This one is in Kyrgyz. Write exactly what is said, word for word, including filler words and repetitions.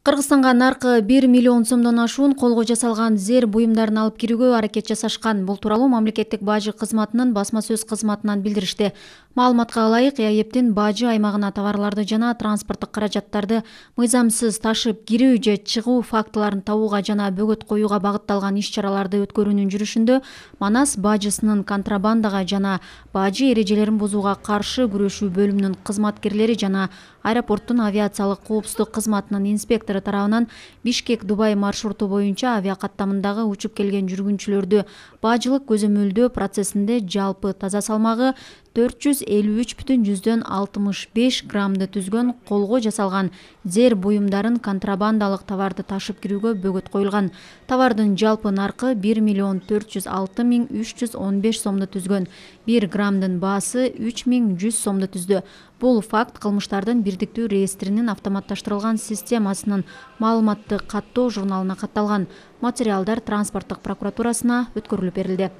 Кыргызстанга наркы бир миллион сомдон ашуун колго жасалган зер буюмдарын алып кирүүгө аракет жасашкан. Бул тууралуу мамлекеттик бажы кызматынын басма сөз кызматынан билдиришти. Маалыматка ылайык, ЭАЭБтин бажы аймагына товарларды жана транспорттук каражаттарды мыйзамсыз ташып кирүү же чыгуу фактыларын табууга жана бөгөт коюуга багытталган иш-чараларды өткөрүүнүн жүрүшүндө Манас бажысынын контрабандага жана бажы эрежелерин бузууга каршы күрөшүү бөлүмүнүн кызматкерлери жана аэропорттун авиациялык коопсуздук кызматынын инспектору тарабынан Бишкек-Дубай маршруту боюнча авиакаттамындагы учуп келген жүргүнчүлөрдү бажылык көзөмөлдөө процессинде жалпы таза салмагы төрт жүз элүү үч бүтүн жүздөн алтымыш беш граммды түзгөн колго жасалган зер буюмдарын контрабандалык товарды ташып кирүүгө бөгөт коюлган. Товардын жалпы наркы бир миллион төрт жүз алты миң үч жүз он беш сомду түзгөн. бир граммдын баасы үч миң жүз сомду түздү. Бул факт кылмыштардын бирдиктүү реестринин автоматташтырылган системасынын маалыматты каттоо журналына катталган. Материалдар транспорттук прокуратурасына өткөрүлүп берилди.